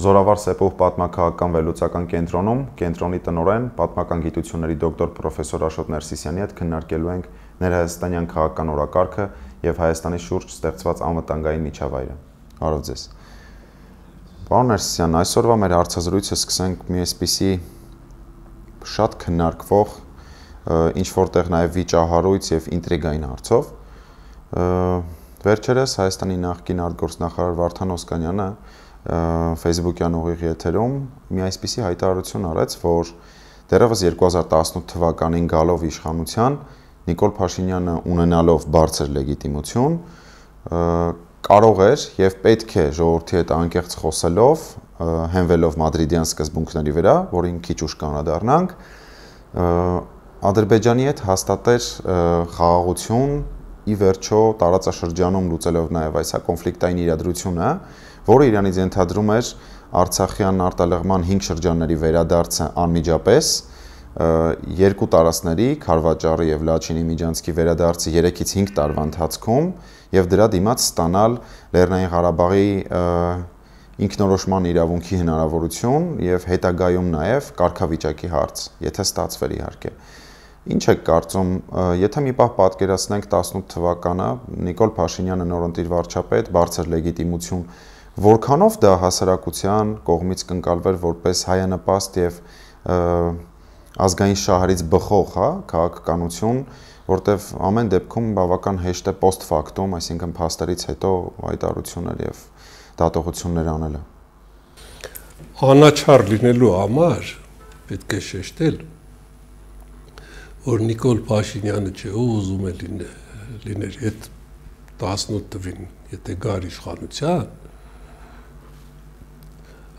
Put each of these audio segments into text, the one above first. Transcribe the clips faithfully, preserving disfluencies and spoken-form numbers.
Զորավար Սեպուհ պատմաքաղաքական վերլուծական կենտրոնում կենտրոնի տնօրեն պատմական գիտությունների դոկտոր պրոֆեսոր Աշոտ Ներսիսյանի հետ քննարկելու ենք ներհայաստանյան քաղաքական օրակարգը եւ Հայաստանի շուրջ ստեղծված անվտանգային միջավայրը։ Բարև ձեզ։ Պարոն Ներսիսյան, այսօրվա մեր հարցազրույցը սկսենք մի այսպիսի շատ քննարկվող, ինչ որտեղ նաեւ վիճահարույց եւ ինտրիգային հարցով։ Վերջերս Հայաստանի նախկին արտգործնախարար Վարդան Օսկանյանը Facebook-յան ուղիղ եթերում մի այսպիսի հայտարարություն արեց, որ դեռևս երկու հազար տասնութ թվականին գալով իշխանության Նիկոլ Փաշինյանը ունենալով բարձր լեգիտիմություն կարող էր եւ պետք է ժողովրդի հետ անկեղծ խոսելով, հենվելով մադրիդյան սկզբունքների վրա, որին քիչ ուշ կանադառնանք, Ադրբեջանի հետ հաստատեր խաղաղություն ի վերջո տարածաշրջանում լուծելով նաեւ այս կոնֆլիկտային իրադրությունը, որը իրանից ենթադրում էր Արցախյան արտալեղման հինգ շրջանների վերադարձը անմիջապես, երկու տարածքների Քարվաճառի եւ Լաչինի միջանցքի վերադարձը երեքից հինգ տարվա ընթացքում եւ դրա դիմաց ստանալ Լեռնային Ղարաբաղի ինքնորոշման իրավունքի հնարավորություն եւ հետագայում նաեւ կարգավիճակի հարց, եթե ստացվեր իհարկե։ Ինչ եք կարծում, եթե մի պահ պատկերացնենք տասնութ թվականը, Նիկոլ Փաշինյանը նորընտիր վարչապետ, բարձր լեգիտիմություն, որքանով դա հասարակության կողմից կընկալվեր որպես հայանպաստ եւ ազգային շահերից բխող, հա, քաղաքականություն, որտեվ ամեն դեպքում բավական հեշտ է post factum, այսինքն փաստերից հետո հայտարարություններ եւ դատողություններ անելը։ Անաչառ լինելու համար պետք է շեշտել, որ Նիկոլ Փաշինյանը չէ, ով ուզում է լիներ այդ տասնութ թվին, եթե գար իշխանության,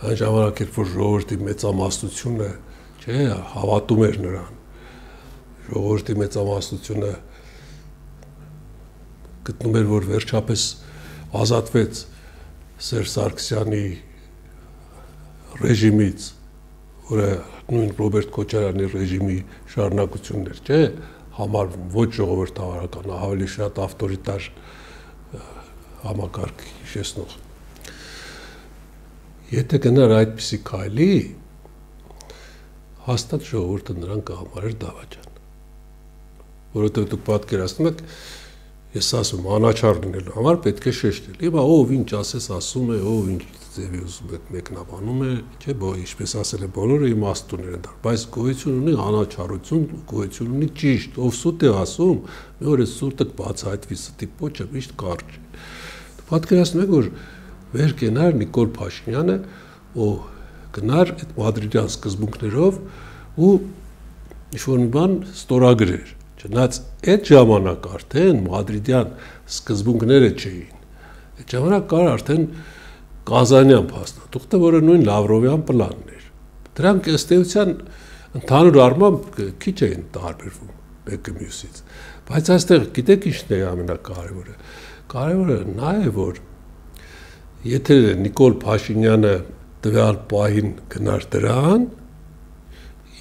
այն ժամանակ էր, որ ժողովրդի մեծամասնությունը, չէ, հավատում էր նրան, ժողովրդի մեծամասնությունը գտնում էր, որ վերջապես ազատվեց Սերժ Սարգսյանի ռեժիմից, որը նույն Ռոբերտ Քոչարյանի ռեժիմի շարունակությունն էր, չէ, համարվում ոչ ժողովրդավարական, ավելի շատ ավտորիտար համակարգ հիշեցնող։ Եթե գնար այդպիսի քայլի, հաստատ ժողովուրդը նրան կհամարեր դավաճան։ Որովհետև դուք պատկերացնում եք, ես ասում, անաչառ լինելու համար պետք է շեշտել։ Հիմա ով ինչ ասես ասում է, ով ինչ ձևի ուզում է մեկնաբանում է, չէ, ինչպես ասել է բոլորը իմաստուններ են դառ, բայց գոյություն ունի անաչառություն, գոյություն ունի ճիշտ, ով սուտ է ասում, մի օր է սուտը բացահայտվի, ստի պոչը միշտ կարճ է։ Պատկերացնում եք, որ վեր կենար Նիկոլ Փաշինյանը, ով գնար այդ մադրիդյան սկզբունքներով ու ինչ-որ մի բան ստորագրեր, չնայած այդ ժամանակ արդեն մադրիդյան սկզբունքները չէին, այդ ժամանակ կար արդեն Կազանյան փաստաթուղթը, որը նույն Լավրովյան պլանն էր։ Դրանք ըստ էության ընդհանուր առմամբ քիչ էին տարբերվում մեկը մյուսից, բայց այստեղ գիտեք ինչն է ամենակարևորը։ Կարևորը նա է, որ եթե Նիկոլ Փաշինյանը տվյալ պահին գնար դրան,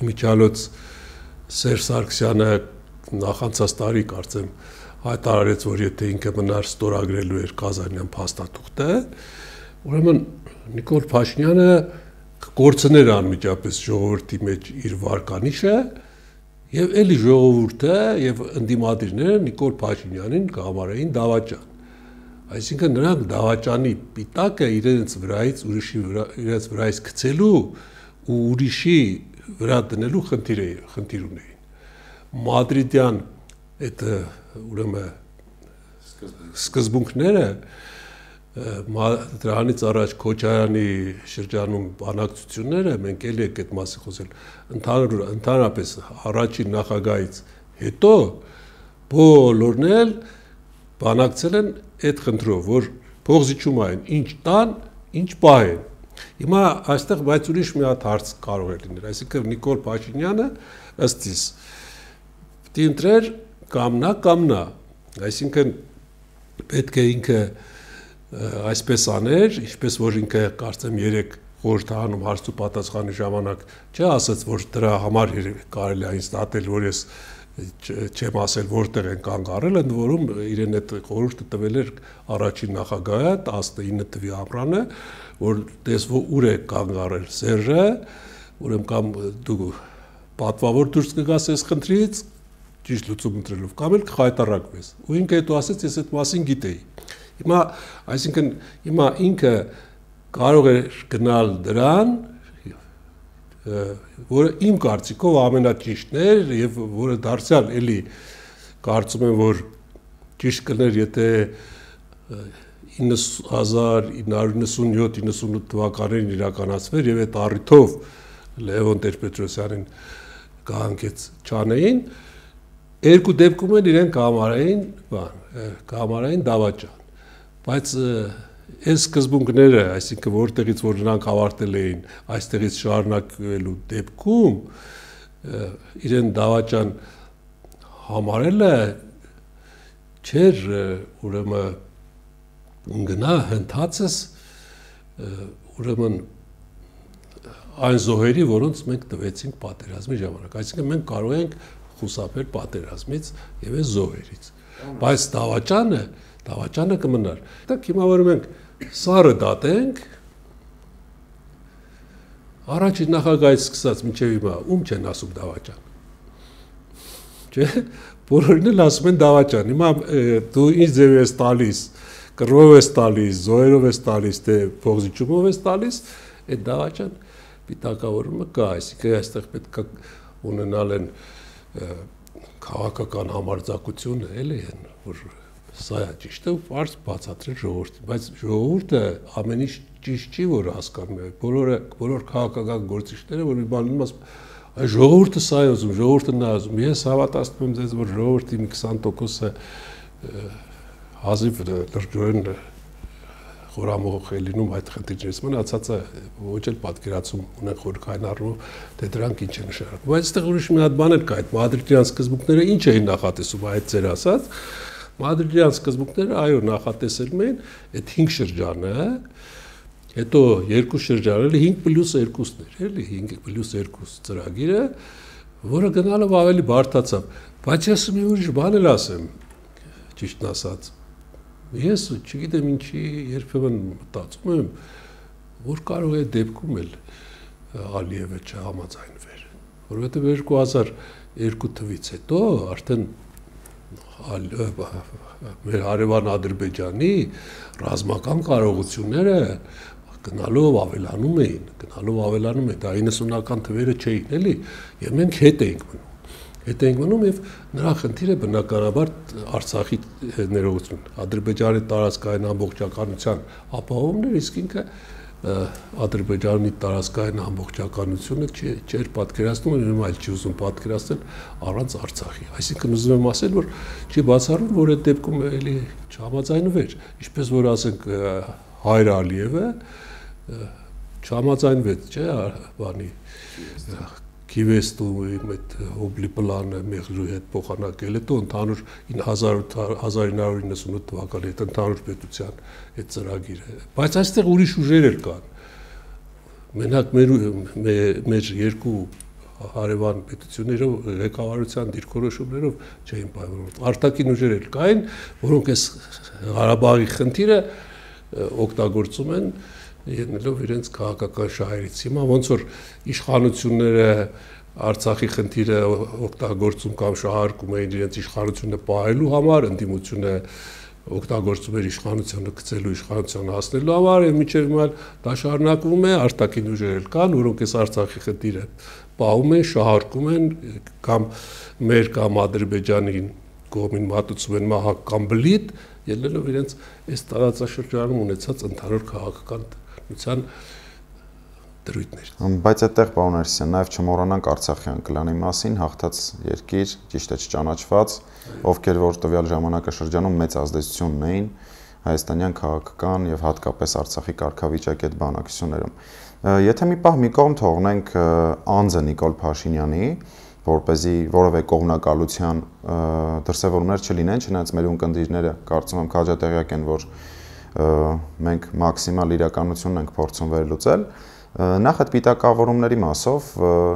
իմիջիալոց Սերժ Սարգսյանը նախանցած տարի կարծեմ հայտարարեց, որ եթե ինքը մնար ստորագրելու էր Կազանյան փաստաթուղթը, ուրեմն Նիկոլ Փաշինյանը կկորցներ անմիջապես ժողովրդի մեջ իր վարկանիշը եւ էլի ժողովուրդը եւ ընդդիմադիրները Նիկոլ Փաշինյանին կհամարեին դավաճան։ Այսինքն նրանք դավաճանի պիտակը իրենց վրայից ուրիշի վրա իրենց վրայից գցելու ու ուրիշի վրա դնելու խնդիր է խնդիր ունեին։ Մադրիդյան այդ ուրեմն սկզբունքները դրանից առաջ Քոչարյանի շրջանում բանակցությունները, մենք էլի ենք այդ մասին խոսել, ընդհանուր ընդհանրապես առաջին նախագահից հետո բոլորն էլ բանակցել են այդ խնդրով, որ փողզիջումային ինչ տան, ինչ պահեն։ Հիմա այստեղ բայց ուրիշ մի հատ հարց կարող է լինել, այսինքն Նիկոլ Փաշինյանը ըստ իս պիտի ընտրեր կամ նա կամ նա, այսինքն պետք է ինքը այսպես աներ, ինչպես որ ինքը կարծեմ երեք խորհրդարանում հարց ու պատասխանի ժամանակ չէ ասաց, որ դրա համար կարելի է ինձ դատել, որ ես չեմ ասել որտեղ են կանգ առել, ընդ որում իրեն այդ խորհուրդը տվել էր առաջին նախագահը տասնինը թվականի ամռանը, որ տեսվո ուր է կանգ առել Սերժը, ուրեմն կամ դու պատվավոր դուրս կգաս այս խնդրից, ճիշտ լուծում ընտրելով, կամ էլ կխայտարակվես։ Ու ինքը հետո ասեց, ես այդ մասին գիտեի։ Հիմա, այսինքն, հիմա ինքը կարող է գնալ դրան, որը իմ կարծիքով ամենաճիշտն էր եւ որը դարձյալ էլի կարծում եմ որ ճիշտ կներ եթե հազար իննսուն նինսունյոթ նինսունութ թվականներին իրականացվեր եւ այդ առիթով Լևոն Տեր-Պետրոսյանին կհանգեց չանեին երկու դեպքում էլ իրեն կհամարային բան կհամարային դավաճան բայց այս սկզբունքները, այսինքն որտեղից որ նրանք ավարտել էին, այստեղից շարունակվելու դեպքում իրեն դավաճան համարելը չէր ուրեմն գնա հնդածս ուրեմն այն զոհերի, որոնց մենք տվեցինք պատերազմի ժամանակ, այսինքն մենք կարող ենք խուսափել պատերազմից եւ այս զոհերից, բայց դավաճանը դավաճանը կմնար։ Դուք հիմա որ մենք սարը դատենք, առաջին նախագահից սկսած մինչև հիմա ում չեն ասում դավաճան։ Չէ՞, բոլորին էլ ասում են դավաճան։ Հիմա դու ինչ ձև ես տալիս, կռվով ես տալիս, զոհերով ես տալիս, թե փողզիջումով ես տալիս, այդ դավաճան պիտակավորումը կա, այսինքն այստեղ պետք է ունենալ են քաղաքական համարձակությունը, էլի են, որ սա է ճիշտը պարզ բացատրել ժողովրդին, բայց ժողովուրդը ամեն ինչ ճիշտ չի, որ հասկանում է, բոլորը, բոլոր քաղաքական գործիչները, որ մի բան ասում, այ ժողովուրդը սա է ուզում, ժողովուրդը նա ուզում, ես հավատացնում եմ ձեզ, որ ժողովրդի մի քսան տոկոսը հազիվ լրջորեն խորամուխ է լինում այդ խնդիրներից, մնացածը ոչ էլ պատկերացում ունեն խորքային առումով, թե դրանք ինչ է նշանակում, բայց այստեղ ուրիշ մի հատ բան էլ կա, այդ մադրիդյան սկզբունքները ինչ էին նախատեսում, այդ ձեր ասած Մադրիդյան սկզբունքները այո նախատեսել են այդ հինգ շրջանը, հետո երկու շրջան, էլի հինգ պլյուս երկուսն էր, էլի հինգ պլյուս երկու ծրագիրը, որը գնալով ավելի բարդացավ, բայց ես մի ուրիշ բան էլ ասեմ, ճիշտն ասած, ես չգիտեմ ինչի երբեմն մտածում եմ, որ կարող է դեպքում էլ Ալիևը չհամաձայնվեր, որովհետև երկու հազար երկու թվականից հետո արդեն մեր հարևան Ադրբեջանի ռազմական կարողությունները գնալով ավելանում էին, գնալով ավելանում էին, դա իննսունական թվերը չէին, էլի, եւ մենք հետ էինք մնում, հետ էինք մնում եւ նրա խնդիրը բնականաբար Արցախի ներողություն, Ադրբեջանի տարածքային ամբողջականության ապահովումն էր, իսկ ինքը Ադրբեջանի տարածքային ամբողջականությունը չէր պատկերացնում, ուրեմն այլ չի ուզում պատկերացնել առանց Արցախի։ Այսինքն ուզում եմ ասել, որ չի բացառվում, որ այդ դեպքում էլի չհամաձայնվեր, ինչպես որ ասենք Հայր Ալիևը չհամաձայնվեց, չէ, բանի Քիվեստու այդ հոբլի պլանը Մեղրուի հետ փոխանակել, հետո ընդհանուր հազար ինը հարյուր իննսունութ թվականի հետ ընդհանուր պետության այդ ծրագիրը, բայց այստեղ ուրիշ ուժեր էր կան, մենակ մեր երկու հարևան պետություններով ղեկավարության դիրքորոշումներով չէին պայմանավորվում, արտաքին ուժեր էլ կային, որոնք այս Ղարաբաղի խնդիրը օգտագործում են ելնելով իրենց քաղաքական շահերից։ Հիմա ոնց որ իշխանությունները Արցախի խնդիրը օգտագործում կամ շահարկում էին իրենց իշխանությունը պահելու համար, ընդդիմությունը օգտագործում էր իշխանությունը գցելու իշխանության հասնելու համար, եւ մինչեւ հիմա դա շարունակվում է, արտաքին ուժեր էլ կան, որոնք այս Արցախի խնդիրը պահում են, շահարկում են կամ մեր կամ Ադրբեջանի կողմին մատուցում են մահակ կամ բլիթ, ելնելով իրենց այս տարածաշրջանում ունեցած ընդհանուր քաղաքական դրույթներ։ Բայց այդտեղ պարոն Արսյան, նաև չմոռանանք Արցախյան կլանի մասին, հաղթած երկիր, ճիշտ է չճանաչված, ովքեր որ տվյալ ժամանակաշրջանում մեծ ազդեցություն ունեին հայաստանյան քաղաքական եւ հատկապես Արցախի կարգավիճակի այդ բանակցություններում։ Եթե մի պահ մի կողմ թողնենք անձը Նիկոլ Փաշինյանի, որպեսզի որևէ կողմնակալության դրսևորումներ չլինեն, չնայած մեր ունկնդիրները կարծում եմ քաջատեղյակ են, որ մենք մաքսիմալ իրականությունն ենք փորձում վերլուծել, Նախ այդ պիտակավորումների մասով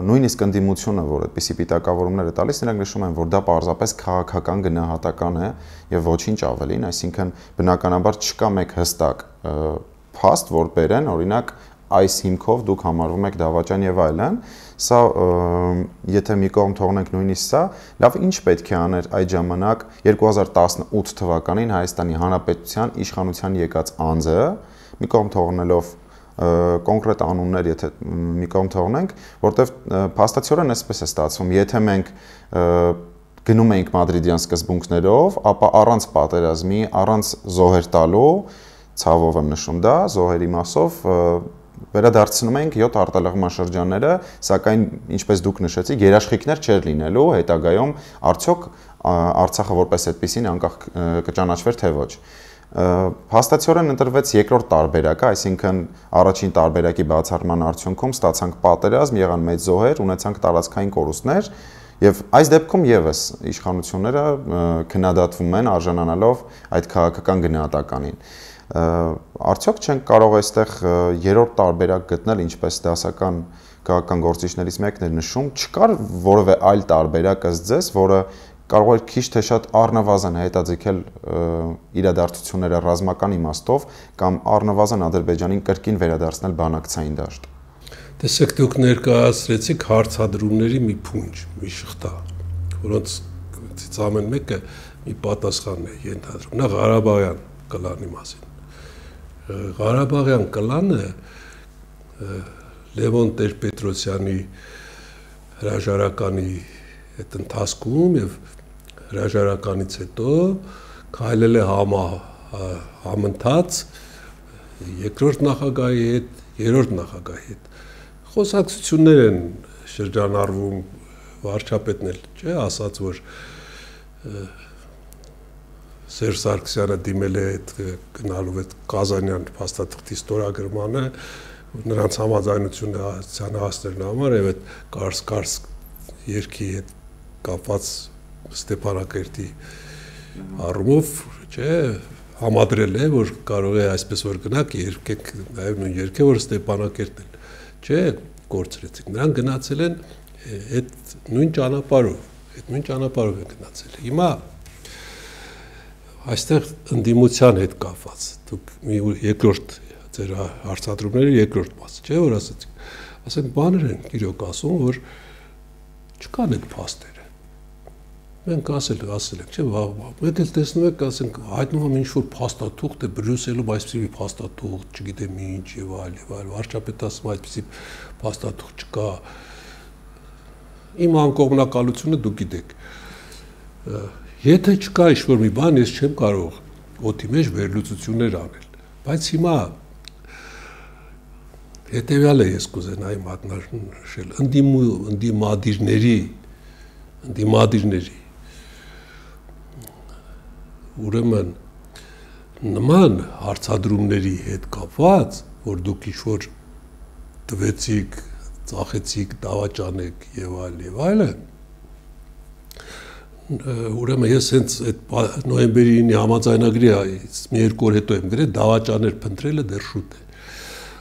նույնիսկ ընդդիմությունը, որ այդպիսի պիտակավորումներ է տալիս, նրանք նշում են, որ դա պարզապես քաղաքական գնահատական է եւ ոչինչ ավելին, այսինքն բնականաբար չկա մեկ հստակ փաստ, որ բերեն, օրինակ այս հիմքով դուք համարվում եք դավաճան եւ այլն, սա եթե մի կողմ թողնենք նույնիսկ սա, լավ ինչ պետք է աներ այդ ժամանակ երկու հազար տասնութ թվականին Հայաստանի Հանրապետության իշխանության եկած անձը, մի կողմ թողնելով կոնկրետ անուններ, եթե մի կողմ թողնենք, որտեվ փաստացիորեն այսպես է ստացվում, եթե մենք գնում էինք մադրիդյան սկզբունքներով, ապա առանց պատերազմի, առանց զոհեր տալու, ցավով եմ նշում դա, զոհերի մասով վերադարձնում ենք յոթ արտալեղման շրջանները, սակայն ինչպես դուք նշեցիք, երաշխիքներ չէր լինելու, հետագայում արդյոք Արցախը որպես այդպեսին անկախ կճանաչվեր թե ոչ։ Հաստատորեն ընտրվեց երկրորդ տարբերակը, այսինքն առաջին տարբերակի բացառման արդյունքում ստացանք պատերազմ, եղան մեծ զոհեր, ունեցանք տարածքային կորուստներ, եւ այս դեպքում եւս իշխանությունները քննադատվում են արժանանալով այդ քաղաքական գնահատականին։ Արդյոք չենք կարող այստեղ երրորդ տարբերակ գտնել, ինչպես դասական քաղաքական գործիչներից մեկն է նշում, չկար որևէ այլ տարբերակ ըստ ձեզ, որը կարող է քիչ թե շատ առնվազն հետաձգել իրադարձությունները ռազմական իմաստով կամ առնվազն Ադրբեջանին կրկին վերադարձնել բանակցային դաշտ։ Տեսեք, դուք ներկայացրեցիք հարցադրումների մի փունջ, մի շղթա, որոնց ամեն մեկը մի պատասխան է ենթադրում։ Նա Ղարաբաղյան կլանի մասին։ Ղարաբաղյան կլանը Լևոն Տեր-Պետրոսյանի հրաժարականի այդ ընթացքում եւ հրաժարականից հետո քայլել է համա համընթաց երկրորդ նախագահի հետ, երրորդ նախագահի հետ։ Խոսակցություններ են շրջանառվում, վարչապետն էլ չէ, ասաց, որ Սերժ Սարգսյանը դիմել է այդ գնալով այդ Կազանյան փաստաթղթի ստորագրմանը, նրանց համաձայնությունը հասնելն համար եւ այդ Կարս-Կարս երկի հետ կապված Ստեփանակերտի առումով, չէ, համադրել է, որ կարող է այսպես որ գնաք երկեք նաեւ նույն երկը, որ Ստեփանակերտն էլ, չէ, կորցրեցիք։ Նրանք գնացել են այդ նույն ճանապարհով, այդ նույն ճանապարհով են գնացել։ Հիմա այստեղ ընդդիմության հետ կապված, դուք մի երկրորդ ձեր հարցադրումների երկրորդ մասը, չէ, որ ասացիք, ասենք բաներ են իրոք ասում, որ չկան այդ փաստերը։ Մենք ասել ասել ենք, չէ, մենք էլ տեսնում ենք, ասենք, հայտնվում է ինչ-որ փաստաթուղթ է Բրյուսելում այսպիսի փաստաթուղթ, չգիտեմ ինչ եւ այլ եւ այլ, վարչապետը ասում է այսպիսի փաստաթուղթ չկա։ Իմ անկողմնակալությունը դուք գիտեք։ Եթե չկա ինչ-որ մի բան, ես չեմ կարող օդի մեջ վերլուծություններ անել, բայց հիմա հետևյալը ես կուզենայի մատնանշել, ընդդիմադիրների, ընդդիմադիրների, ուրեմն նման հարցադրումների հետ կապված, որ դուք ինչ-որ տվեցիք, ծախեցիք, դավաճանեք եւ այլ եւ այլն, ուրեմն ես հենց այդ նոյեմբերի ինը համաձայնագրի մի երկու օր հետո եմ գրել դավաճաներ փնտրելը դեռ շուտ է։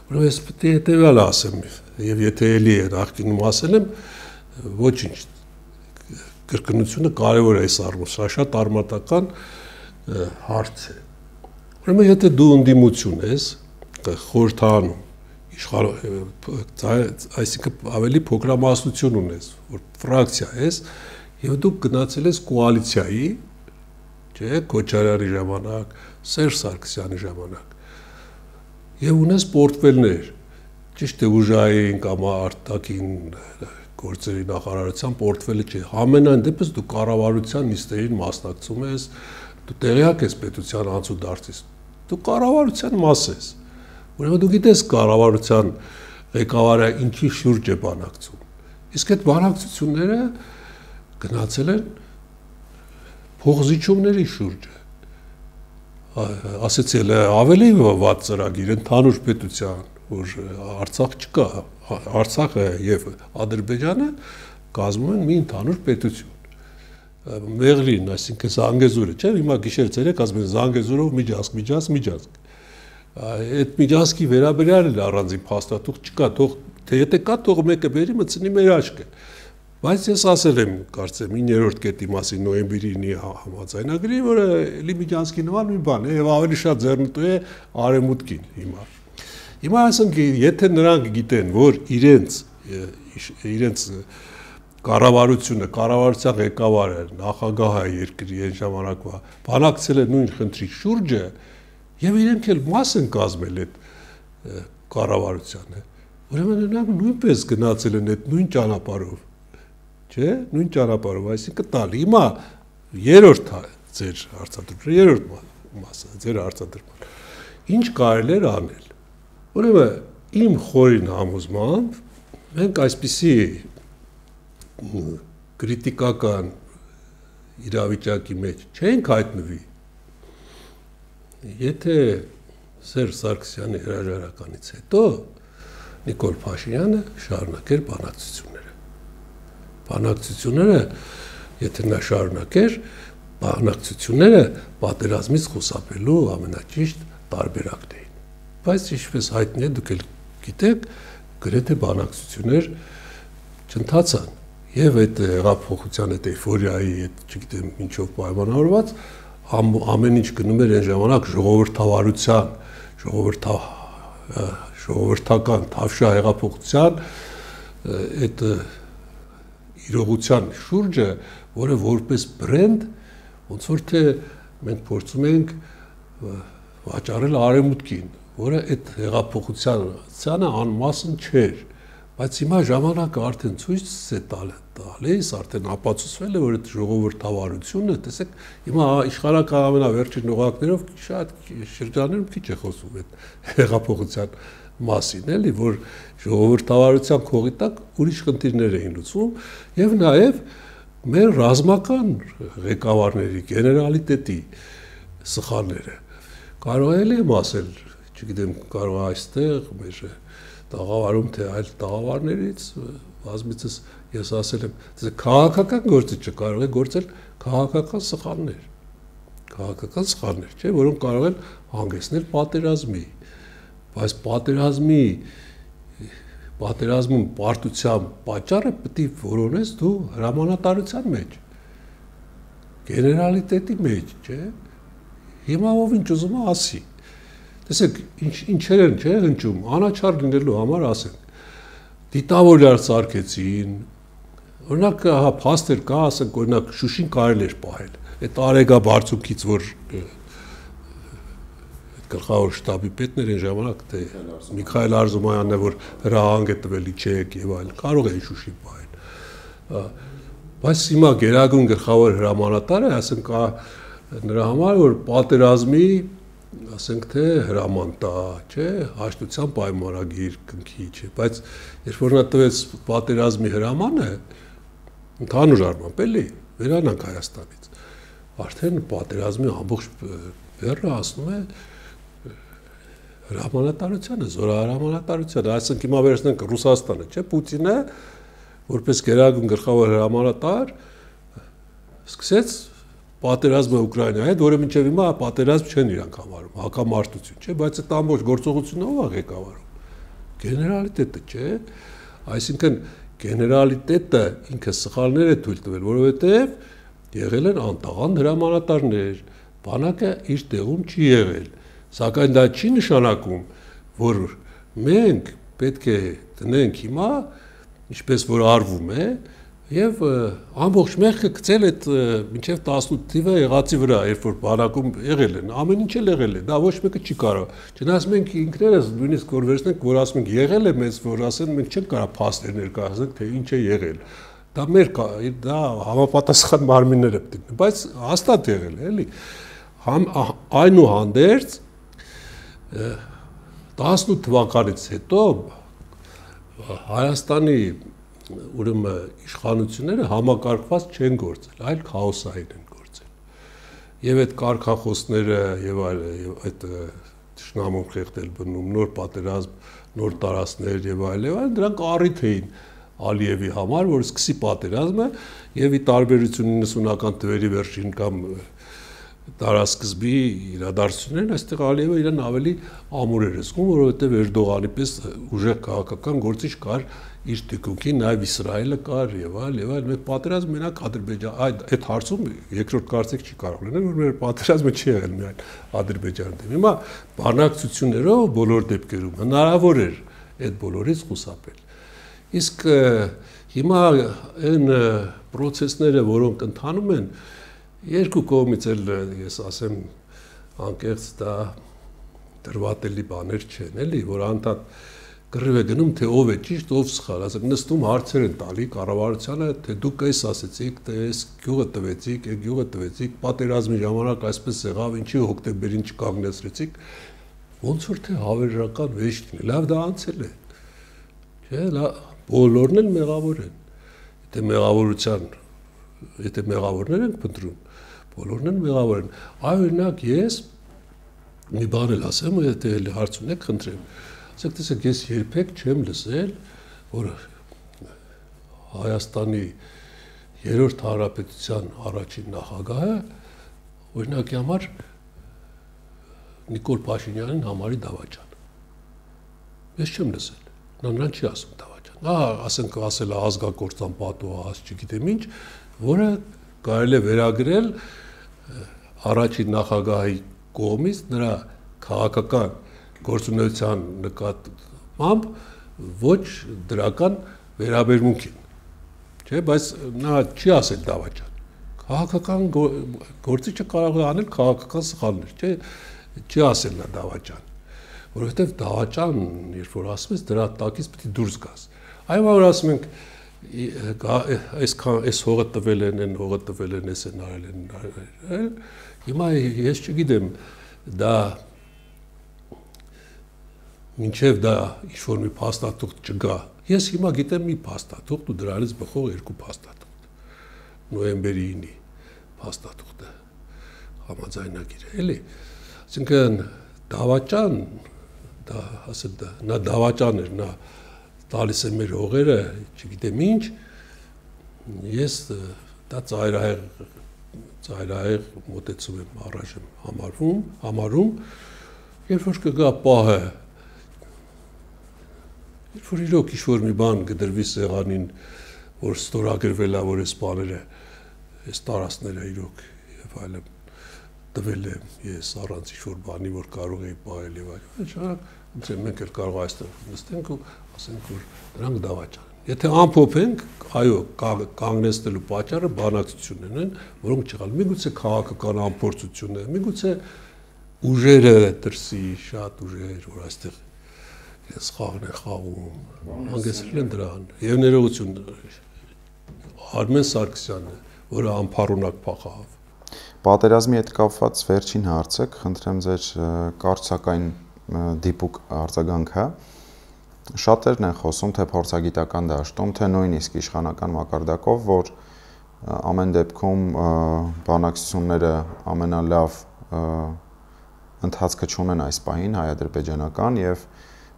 Ուրեմն ես պետք է հետևյալը ասեմ եւ եթե էլի նախկինում ասել եմ, ոչինչ կրկնությունը կարևոր է այս առումով, սա շատ արմատական հարց է։ Ուրեմն եթե դու ընդդիմություն ես, խորհրդանում այսինքն ավելի փոքրամասնություն ունես, որ ֆրակցիա ես, եւ դուք գնացել ես կոալիցիայի, չէ, Քոչարյանի ժամանակ, Սերժ Սարգսյանի ժամանակ, եւ ունես պորտֆելներ, ճիշտ է ուժային կամ արտաքին գործերի նախարարության պորտֆելը չէ, ամենայն դեպս դու կառավարության նիստերին մասնակցում ես, դու տեղյակ ես պետության անցուդարձից, դու կառավարության մաս ես, ուրեմն դու գիտես կառավարության ղեկավարը ինչի շուրջ է բանակցում, իսկ այդ բանակցությունները գնացել են փոխզիջումների շուրջը, ասեցել է ավելի վատ ծրագիր ընդհանուր պետության, որ Արցախ չկա, Արցախը եւ Ադրբեջանը կազմում են մի ընդհանուր պետություն։ Մեղրին, այսինքն Զանգեզուրը, չէ՞, հիմա գիշեր ցերեկ ասում են Զանգեզուրով միջազգ, միջազգ, միջազգ։ այդ միջանցքի վերաբերյալ էլ առանձին փաստաթուղթ չկա, թող թե եթե կա, թող մեկը բերի մտցնի մեր աչքը։ Բայց ես ասել եմ, կարծեմ իններորդ կետի մասին նոյեմբերի համաձայնագրի, որը էլի միջանցքի նման մի բան է եւ ավելի շատ ձեռնտու է արևմուտքին հիմա։ Հիմա ասենք, եթե նրանք գիտեն, որ իրենց իրենց կառավարությունը, կառավարության ղեկավարը, նախագահը երկրի այն ժամանակվա բանակցել է նույն խնդրի շուրջը եւ իրենք էլ մաս են կազմել այդ կառավարությանը, ուրեմն նրանք նույնպես գնացել են այդ նույն ճանապարհով, չէ՞, նույն ճանապարհով, այսինքն տալ։ Հիմա երրորդ ձեր հարցադրումը, երրորդ մասը, ձեր հարցադրումը։ Ինչ կարելի է անել։ Ուրեմն իմ խորին համոզմամբ մենք այսպիսի կրիտիկական իրավիճակի մեջ չենք հայտնվի, եթե Սերժ Սարգսյանի հրաժարականից հետո Նիկոլ Փաշինյանը շարունակեր բանակցությունները։ Բանակցությունները, եթե նա շարունակեր, բանակցությունները պատերազմից խուսափելու ամենաճիշտ տարբերակն էին։ Բայց ինչպես հայտնի է, դուք էլ գիտեք, գրեթե բանակցություններ չընթացան եւ այդ հեղափոխության այդ էյֆորիայի, այդ չգիտեմ ինչով պայմանավորված ամեն ինչ գնում էր այն ժամանակ ժողովրդավարության, ժողովրդա ժողովրդական թավշյա հեղափոխության այդ իրողության շուրջը, որը որպես բրենդ ոնց որ թե մենք փորձում ենք վաճառել արևմուտքին, որը այդ հեղափոխությանը անմասն չէր, բայց հիմա ժամանակը արդեն ցույց է տալիս, արդեն ապացուցվել է, որ այդ ժողովրդավարությունը, տեսեք, հիմա իշխանական ամենավերջին օղակներով շատ շրջաններում քիչ է խոսում այդ հեղափոխության մասին, էլի, որ ժողովրդավարության քողի տակ ուրիշ խնդիրներ էին լուծվում եւ նաեւ մեր ռազմական ղեկավարների, գեներալիտետի սխալները։ Կարող է եմ ասել, չգիտեմ, կարող է այստեղ մեր տաղավարում թե այլ տաղավարներից բազմիցս ես ասել եմ, թե քաղաքական գործիչը կարող է գործել քաղաքական սխալներ, քաղաքական սխալներ, չէ, որոնք կարող են հանգեցնել պատերազմի, բայց պատերազմի պատերազմում պարտության պատճառը պետք է որոնես դու հրամանատարության մեջ, գեներալիտետի մեջ, չէ, հիմա ով ինչ ուզում է ասի։ Տեսեք, ինչեր են, չէ, հնչում, անաչառ լինելու համար ասենք, դիտավորյալ սարքեցին, օրինակ, հա, փաստեր կա, ասենք, օրինակ, Շուշին կարելի էր պահել, այդ Արեգա բարձունքից, որ գլխավոր շտաբի պետն էր այն ժամանակ, թե Միքայել Արզումանյանն է, որ հրահանգ է տվել իջեք եւ այլն, կարող էին Շուշին պահել։ Բայց հիմա գերագույն գլխավոր հրամանատարը, ասենք, նրա համար, որ պատերազմի ասենք թե հրաման տա, չէ, հաշտության պայմանագիր կնքի, չէ, բայց երբ որ նա տվեց պատերազմի հրամանը, ընդհանուր առմամբ էլի, վերանանք Հայաստանից, արդեն պատերազմի ամբողջ բեռը ասնում է հրամանատարությանը, զորահրամանատարությանը, այսինքն հիմա վերցնենք Ռուսաստանը, չէ, Պուտինը, որպես գերագույն գլխավոր հրամանատար, սկսեց պատերազմը Ուկրաինայի հետ, որը մինչև հիմա պատերազմ չեն իրանք համարում, հակամարտություն, չէ, բայց այդ ամբողջ գործողությունը ով է ղեկավարում։ Գեներալիտետը, չէ, այսինքն գեներալիտետը ինքը սխալներ է թույլ տվել, որովհետև եղել են անտաղանդ հրամանատարներ, բանակը իր տեղում չի եղել, սակայն դա չի նշանակում, որ մենք պետք է տնենք հիմա, ինչպես որ արվում է, եւ ամբողջ մեղքը գցել այդ մինչեւ տասնութ թիվը եղածի վրա, երբ որ բանակում եղել են, ամեն ինչ էլ եղել է, դա ոչ մեկը չի կարող։ Չնայած մենք ինքներս նույնիսկ որ վերցնենք, որ ասում ենք եղել է մեզ, որ ասեն մենք չենք կարող փաստեր ներկայացնենք, թե ինչ է եղել։ Դա մեր դա համապատասխան մարմինները պետք է, բայց հաստատ եղել է, էլի։ Այնուհանդերձ տասնութ թվականից հետո Հայաստանի ուրեմն իշխանությունները համակարգված չեն գործել, այլ քաոսային են գործել։ Եվ այդ կարգախոսները եւ այլ այդ ճշնամուն խեղդել բնում, նոր պատերազմ, նոր տարածքներ եւ այլ եւ այլ, դրանք առիթ էին Ալիևի համար, որ սկսի պատերազմը եւ ի տարբերություն իննսունական թվերի վերջին կամ տարասկզբի իրադարձություններն այստեղ Ալիևը իրեն ավելի ամուր էր զգում, որովհետև Էրդողանի պես ուժեղ քաղաքական գործիչ կար իր թիկունքին, նաև Իսրայելը կար եւ այլ եւ այլ։ Մեր պատերազմը մենակ Ադրբեջան, այդ այդ հարցում երկրորդ կարծիք չի կարող լինել, որ մեր պատերազմը չի եղել միայն Ադրբեջանի դեմ։ Հիմա բանակցություններով բոլոր դեպքերում հնարավոր էր այդ բոլորից խուսափել։ Իսկ հիմա այն process-ները, որոնք ընթանում են, երկու կողմից էլ ես ասեմ անկեղծ դա դրվատելի բաներ չեն, էլի, որ անդադ կռիվ է գնում, թե ով է ճիշտ, ով սխալ, ասենք նստում հարցեր են տալի կառավարությանը, թե դուք էս ասեցիք, թե էս գյուղը տվեցիք, այդ գյուղը տվեցիք, պատերազմի ժամանակ այսպես եղավ, ինչի հոկտեմբերին չկանգնեցրեցիք, ոնց որ թե հավերժական վեճ լինի, լավ դա անցել է, չէ, բոլորն էլ մեղավոր են, եթե մեղավորության, եթե մեղավորներ ենք փնտրում, բոլորն էլ մեղավոր են, այ օրինակ ես մի բան էլ ասեմ, եթե էլ հարց ունեք, խնդրեմ, ասեք տեսեք, ես երբեք չեմ լսել, որ Հայաստանի երրորդ հանրապետության առաջին նախագահը օրինակի համար Նիկոլ Փաշինյանին համարի դավաճան։ Ես չեմ լսել, նա նրան չի ասում դավաճան։ Նա ասենք ասել է ազգակործան պատուհաս, չգիտեմ ինչ, որը կարելի է վերագրել առաջին նախագահի կողմից նրա քաղաքական գործունեության նկատմամբ ոչ դրական վերաբերմունքին, չէ, բայց նա չի ասել դավաճան։ Քաղաքական գործիչը կարող է անել քաղաքական սխալներ, չէ, չի ասել նա դավաճան, որովհետև դավաճան, երբ որ ասում ես, դրա տակից պետք է դուրս գաս։ Այո, որ ասում ենք, այսքան այս հողը տվել են, այն հողը տվել են, այս են արել են, հիմա ես չգիտեմ, դա մինչև դա ինչ-որ մի փաստաթուղթ չգա։ Ես հիմա գիտեմ մի փաստաթուղթ ու դրանից բխող երկու փաստաթուղթ։ Նոյեմբերի ինի փաստաթուղթը համաձայնագիր է, էլի։ Այսինքն դավաճան, դա ասել դա, նա դավաճան էր, նա տալիս է մեր հողերը, չգիտեմ ինչ, ես դա ծայրահեղ ծայրահեղ մոտեցում եմ առաջ եմ համարվում, համարում, երբ որ կգա պահը, երբ որ իրոք ինչ-որ մի բան կդրվի սեղանին, որ ստորագրվել է, որ այս բաները, այս տարածքները իրոք եւ այլն տվել եմ ես առանց ինչ-որ բանի, որ կարող էի պահել եւ այլն, շարակ ոնց է մենք էլ կարող այստեղ նստենք ու ասենք, որ նրանք դավաճան են։ Եթե ամփոփենք, այո, կանգնեցնելու պատճառը բանակցություններն են, որոնք չեղալ։ Միգուցե քաղաքական ամփորձություն է, միգուցե ուժերը դրսի շատ ուժեր, որ այստեղ սխաղն է խաղում, հանգեցրել են դրան։ Եվ ներողություն Արմեն Սարգսյանը, որը անփառունակ փախավ։ Պատերազմի հետ կապված վերջին հարցը, խնդրեմ ձեր կարծակային դիպուկ արձագանքը։ Շատերն են խոսում թե փորձագիտական դաշտում, թե նույնիսկ իշխանական մակարդակով, որ ամեն դեպքում բանակցությունները ամենալավ ընթացքը չունեն այս պահին հայ-ադրբեջանական եւ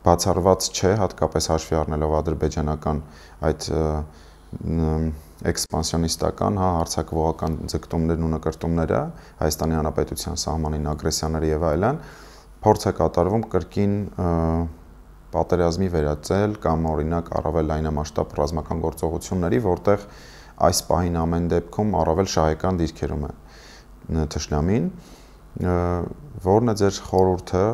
բացառված չէ, հատկապես հաշվի առնելով ադրբեջանական այդ էքսպանսիոնիստական, հա, հարցակողական ձգտումներն ու նկրտումները Հայաստանի Հանրապետության սահմանին ագրեսիաների եւ այլն, փորձ է կատարվում կրկին պատերազմի վերածել կամ օրինակ առավել լայնամասշտաբ ռազմական գործողությունների, որտեղ այս պահին ամեն դեպքում առավել շահեկան դիրքերում է թշնամին, որն է ձեր խորհուրդը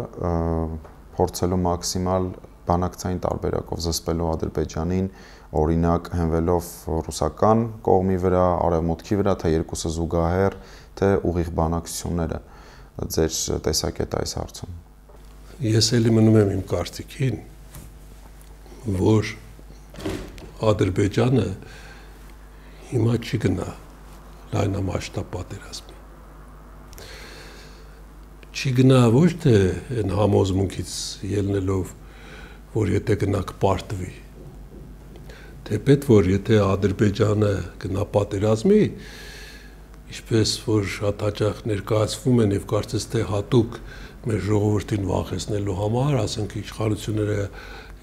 փորձելու մաքսիմալ բանակցային տարբերակով զսպելու Ադրբեջանին, օրինակ հենվելով ռուսական կողմի վրա, արևմուտքի վրա, թե երկուսը զուգահեռ, թե ուղիղ բանակցությունները, ձեր տեսակետը այս հարցում։ Ես էլի մնում եմ իմ կարծիքին, որ Ադրբեջանը հիմա չի գնա լայնամասշտաբ պատերազմի։ Չի գնա ոչ թե այն համոզմունքից ելնելով, որ եթե գնա կպարտվի, թեպետ որ եթե Ադրբեջանը գնա պատերազմի, ինչպես որ շատ հաճախ ներկայացվում են եւ կարծես թե հատուկ մեր ժողովրդին վախեցնելու համար, ասենք իշխանությունները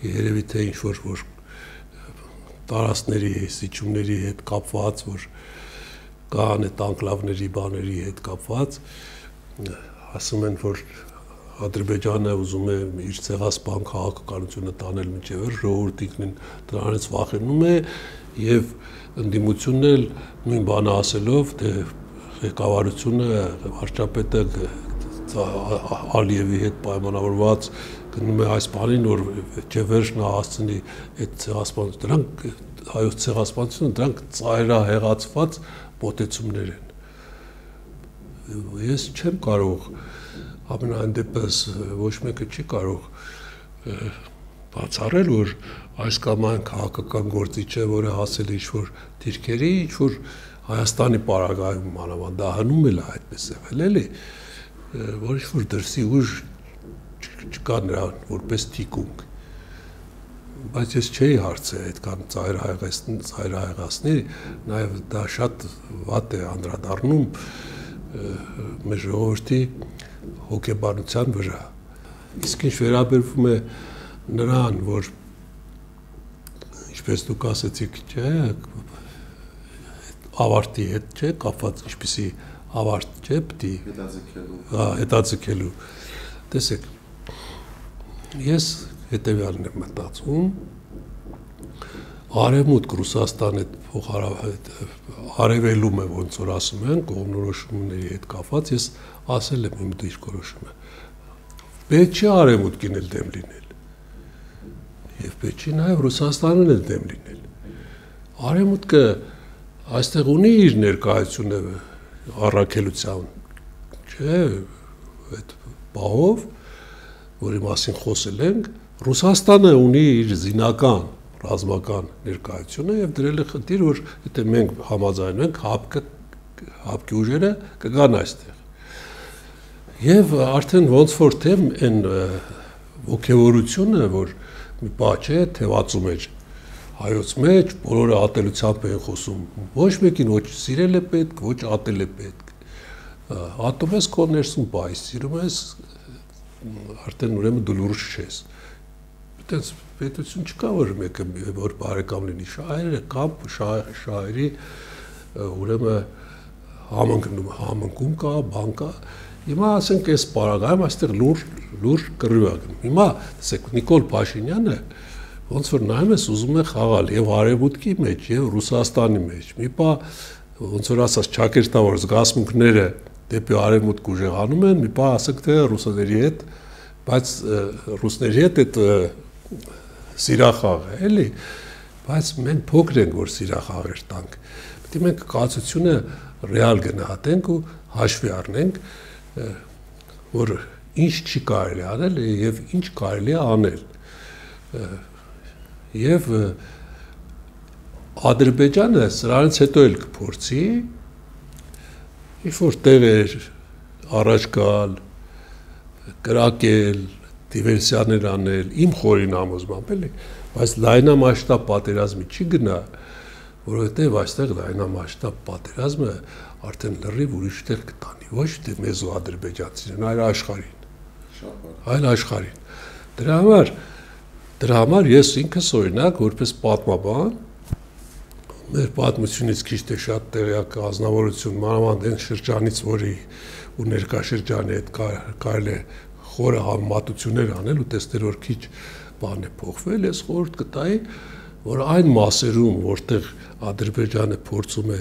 երևի թե ինչ որ տարածքների, սիճումների հետ կապված, որ կան այդ անկլավների բաների հետ կապված, ասում են, որ Ադրբեջանը ուզում է իր ցեղասպան քաղաքականությունը տանել մինչև ժողովրդիկն դրանից վախենում է եւ ընդդիմությունն էլ նույն բանը ասելով, թե ղեկավարությունը վարչապետը Ալիևի հետ պայմանավորված գնում է այս բանին, որ չէ վերջն հասցնի այդ ցեղասպանությունը, դրանք հայոց ցեղասպանությունը դրանք ծայրահեղացված մոտեցումներ են։ Ես չեմ կարող ամենայն դեպս ոչ մեկը չի կարող բացառել, որ այս կամ այն քաղաքական գործիչը, որը հասել է ինչ-որ դիրքերի, ինչ-որ Հայաստանի պարագայում մանավանդահանում էլ այդպես եղել էլի, որ ինչ-որ դրսի ուժ չկա նրան որպես թիկունք, բայց ես չէի հարցրել այդքան ծայրահեղացնի, նաև դա շատ վատ է անդրադառնում մեր ժողովրդի հոգեբանության վրա։ Իսկ ինչ վերաբերվում է նրան, որ ինչպես դուք ասեցիք, չէ, ավարտի հետ չէ, կապված ինչպիսի ավարտ չէ, պիտի հետաձգելու։ Հա, հետաձգելու։ Տեսեք, ես հետևյալն եմ մտածում, Արևմուտք Ռուսաստան այդ արևելում է, ոնց որ ասում են, կողմնորոշումների հետ կապված, ես ասել եմ իմ դիրքորոշումը։ Պետք չի Արևմուտքին էլ դեմ լինել։ Եվ պետք չի նաև Ռուսաստանին էլ դեմ լինել։ Արևմուտքը այստեղ ունի իր ներկայությունը առաքելության, չէ, այդ բահով, որի մասին խոսել ենք, Ռուսաստանը ունի իր զինական, ռազմական ներկայությունը եւ դրել է խնդիր, որ եթե մենք համաձայնվում ենք, հապկը հապկի ուժերը կգան այստեղ։ Եվ արդեն ոնց որ թե այն ողջավորությունը, որ մի բան չէ, թևածում է հայոց մեջ, բոլորը ատելությամբ են խոսում, ոչ մեկին ոչ սիրել է պետք, ոչ ատել է պետք։ Ատում ես քո ներսում բայ, սիրում ես արդեն ուրեմն դու լուրջ չես։ Այդպես պետություն չկա, որ մեկը որ բարեկամ լինի, շահերը կամ շահերի ուրեմն համընկնում, համընկում կա, բան կա։ Հիմա ասենք այս պարագայում այստեղ լուրջ լուրջ կռիվ է գնում։ Հիմա տեսեք Նիկոլ Փաշինյանը ոնց որ նայում ես ուզում է խաղալ եւ Արևմուտքի մեջ եւ Ռուսաստանի մեջ։ Մի բա ոնց որ ասած ճակերտավոր զգացմունքները դեպի Արևմուտք ուժեղանում են, մի բա ասենք թե ռուսների հետ, բայց ռուսների հետ այդ սիրախաղ է, էլի, բայց մենք փոքր ենք, որ սիրախաղեր տանք։ Պետք է մենք կացությունը ռեալ գնահատենք ու հաշվի առնենք, որ ինչ չի կարելի անել եւ ինչ կարելի է անել։ Եվ Ադրբեջանը սրանից հետո էլ կփորձի ինչ-որ տեղեր առաջ գալ, կրակել, դիվերսիաներ անել, իմ խորին համոզմամբ էլի, բայց լայնամասշտաբ պատերազմի չի գնա, որովհետև այստեղ լայնամասշտաբ պատերազմը արդեն լրիվ ուրիշ տեղ կտանի, ոչ թե մեզ ու ադրբեջանցիներին, այլ աշխարհին։ Այլ աշխարհին։ Դրա համար դրա համար ես ինքս օրինակ որպես պատմաբան մեր պատմությունից քիչ թե շատ տեղյակ ազնվորություն մանավանդ այն շրջանից, որի ու ներկա շրջանի հետ կարելի է խորը համեմատություններ անել ու տեսնել, որ քիչ բան է փոխվել, ես խորհուրդ կտայի, որ այն մասերում, որտեղ Ադրբեջանը փորձում է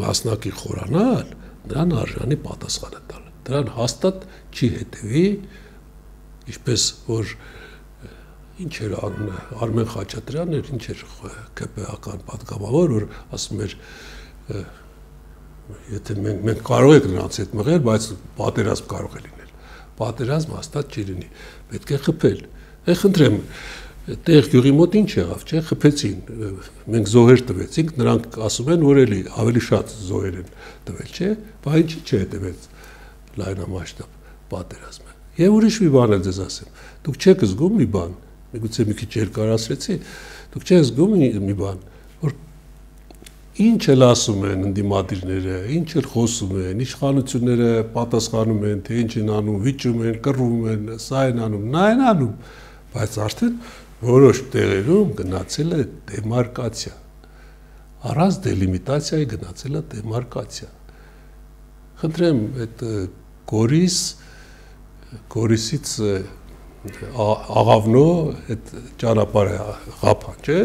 մասնակի խորանալ, նրան արժանի պատասխանը տալ։ Դրան հաստատ չի հետևի, ինչպես որ ինչ էր անունը, Արմեն Խաչատրյանն էր, ինչ էր ԿՊ-ական պատգամավոր, որ ասում էր, եթե մենք, մենք կարող ենք նրանց հետ մղել, բայց պատերազմ կարող է լինել։ Պատերազմ հաստատ չի լինի, պետք է խփել։ Է խնդրեմ, տեղ գյուղի մոտ ինչ եղավ, չէ, խփեցին, մենք զոհեր տվեցինք, նրանք ասում են, որ էլի ավելի շատ զոհեր են տվել, չէ, բայց ինչի՞ չհետևեց լայնամասշտաբ պատերազմը։ Եվ ուրիշ մի բան էլ ձեզ ասեմ, դուք չեք զգում մի բան, միգուցե մի քիչ երկարացրեցի, դուք չեք զգում մի բան, որ ինչ էլ ասում են ընդդիմադիրները, ինչ էլ խոսում են, իշխանությունները պատասխանում են, թե ինչ են անում, վիճում են, կռվում են, սա են անում, նա են անում, բայց արդեն որոշ տեղերում գնացել է դեմարկացիա։ առանց դելիմիտացիայի գնացել է դեմարկացիա։ Խնդրեմ, այդ Գորիս Գորիսից աղավնո այդ ճանապարհը ղափան, չէ՞,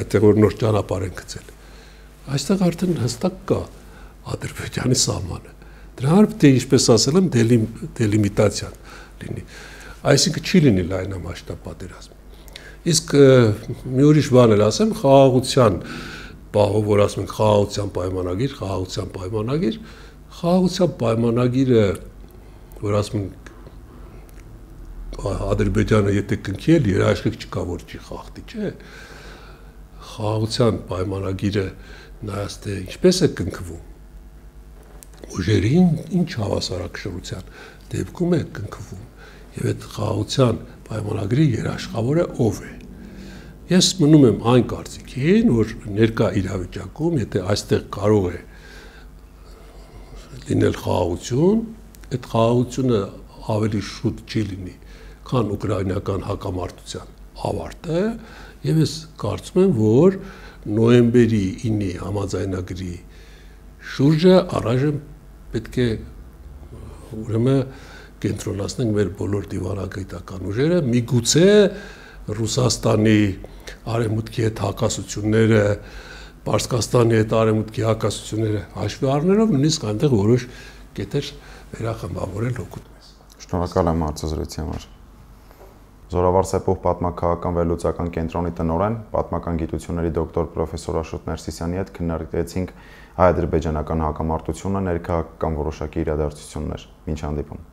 այդտեղ որ նոր ճանապարհ են գծել։ Այստեղ արդեն հստակ կա Ադրբեջանի սահմանը։ Դրա համար պետք է, ինչպես ասել եմ, դելիմիտացիան լինի։ Այսինքն չի լինի լայնամասշտաբ պատերազմ։ Իսկ մի ուրիշ բան էլ ասեմ, խաղաղության պահով, որ ասում ենք խաղաղության պայմանագիր, խաղաղության պայմանագիր, խաղաղության պայմանագիրը, որ ասում ենք Ադրբեջանը եթե կնքի էլ երաշխիք չկա, որ չի խախտի, չէ։ Խաղաղության պայմանագիրը նայած թե ինչպես է կնքվում, ուժերին ինչ հավասարակշռության դեպքում է կնքվում, եւ այդ խաղաղության պայմանագրի երաշխավորը ով է։ Ես մնում եմ այն կարծիքին, որ ներկա իրավիճակում, եթե այստեղ կարող է լինել խաղաղություն, այդ խաղաղությունը ավելի շուտ չի լինի, քան ուկրաինական հակամարտության ավարտը, եւ ես կարծում եմ, որ նոյեմբերի ինի համաձայնագրի շուրջը առայժմ պետք է ուրեմն կենտրոնացնենք մեր բոլոր դիվանագիտական ուժերը, միգուցե Ռուսաստանի արևմուտքի հետ հակասությունները, Պարսկաստանի հետ արևմուտքի հակասությունները հաշվի առնելով, նույնիսկ այնտեղ որոշ կետեր վերախմբավորել օգուտ մեզ։ Շնորհակալ եմ հարցազրույցի համար։ Զորավարսեպով պատմաքաղաքական վերլուծական կենտրոնի տնօրեն, պատմական գիտությունների դոկտոր պրոֆեսոր Աշոտ Ներսիսյանի հետ քննարկեցինք հայ-ադրբեջանական հակամարտությունը, ներքաղաքական որոշակի իրադարձություններ։ Մինչ հանդիպում։